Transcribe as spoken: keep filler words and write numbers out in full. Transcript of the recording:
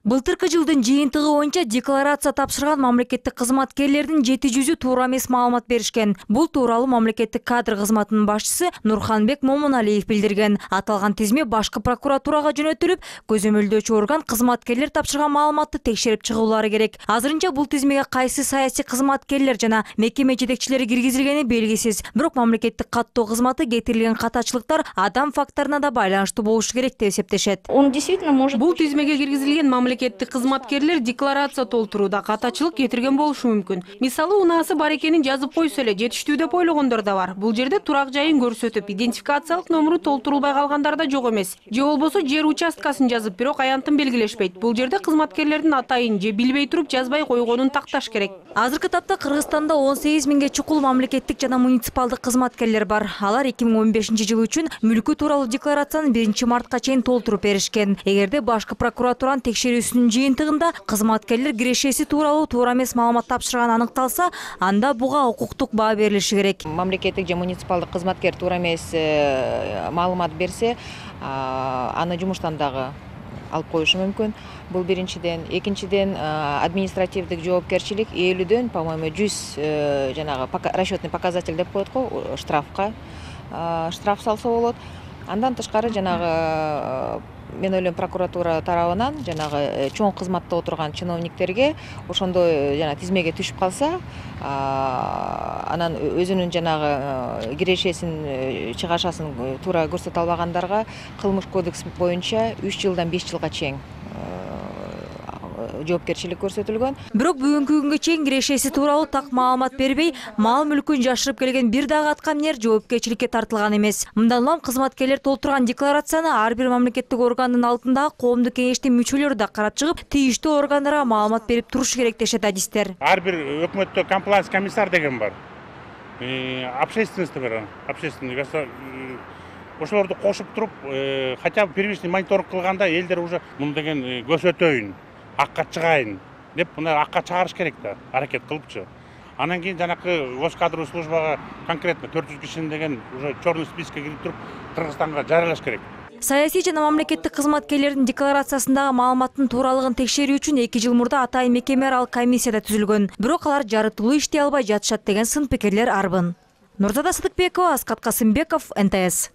Былтыркы жылдын жыйынтыгы боюнча декларация тапшырган мамлекеттик кызматкерлердин жети жүзү туура эмес маалымат беришкен. Бул тууралуу мамлекеттик кадр кызматынын башчысы Нурханбек Момуналиев билдирген. Аталган тизме башкы прокуратурага жөнөтүлүп, көзөмөлдөөчү орган кызматкерлер тапшырган маалыматты текшерип чыгуулары керек. Азырынча бул тизмеге кайсы саясий кызматкерлер жана мекеме жетекчилери киргизилгени белгисиз. Бирок мамлекеттик каттоо кызматы кетирилген катачылыктар адам факторуна да байланыштуу болушу керек деп эсептешет. Он действительно может... Бул тизмеге киргизилген мамлекеттик кызматкерлер декларация толтурууда катачылык кетирген болушу мүмкүн. Мисалы, унаасы бар экенин жазып койсо эле жетиштүү деп ойлогондор да бар. Бул жерде турак жайын көрсөтүп, идентификациялык номеру толтурулбай калгандар да жок эмес. Же болбосо жер участкасын жазып, бирок аянтын белгилешпейт. Бул жерде кызматкерлердин атайын же билбей туруп жазбай койгонун такташ керек. Азыркы тапта Кыргызстанда он сегиз миңге чукул мамлекеттик жана муниципалдык кызматкерлер бар. Алар эки миң он бешинчи жыл үчүн мүлкү тууралуу декларацияны биринчи мартка чейин толтуруп беришкен. Эгерде башкы прокуратуранын текшерүүсүнүн жыйынтыгында кызматкерлер кирешеси тууралуу туура эмес маалымат тапшырганы аныкталса, анда буга укуктук баа берилиши керек. Мамлекеттик же муниципалдык кызматкер туура эмес маалымат берсе, аны жумуштан дагы алып коюшу мүмкүн. Бул биринчиден, экинчиден административдик жоопкерчилик элүүдөн, по-моему, жүз жанагы расчетный показатель деп коет го, штрафка штраф салса болот. Андан тышкары жанагы мен ойлойм прокуратура тарабынан жанагы чоң кызматта отурган чиновниктерге ошондой жана тизмеге түшүп калса, анан өзүнүн жанагы кирешесин, чыгашасын туура көрсөтө албагандарга кылмыш кодекс боюнча үч жылдан беш жылга чейин жоопкерчилик көрсөтүлгөн. Бирок бүгүнкү күнгө чейин кирешеси тууралуу так маалымат бербей, мал мүлкүн жашырып келген бир дагы аткаминер жоопкерчиликке тартылган эмес. Мындан улам кызматкерлер толтурган декларацияны ар бир мамлекеттик органдын алдындагы коомдук кеңештин мүчөлөрү да карап чыгып, тийиштүү органдарга маалымат берип турушу керек дешет адистер. Ар бир өкмөттө комплайнс комиссар деген бар. Общественность бар, общественный ошолорду кошуп туруп, хотя бы первичный мониторинг кылганда элдер уже муну деген көрсөтөйүн, акка чыгайын деп, мына акка чыгарыш керек да, аракет кылыпчы. Анан кийин жанакы госкадровый службага конкретно төрт жүз кишини деген уже черный спискке кирип туруп, Кыргызстанга жарыялаш керек. Саясий жана мамлекеттик кызматкерлердин декларациясындагы маалыматтын тууралыгын текшерүү үчүн эки жыл мурда атайын мекеме аралык комиссия да түзүлгөн. Бирок алар жарытылуу иштей албай жатышат деген сын пикирлер арбын. Нурзада Сыдыкбекова, Аскат Касымбеков, эн тэ эс.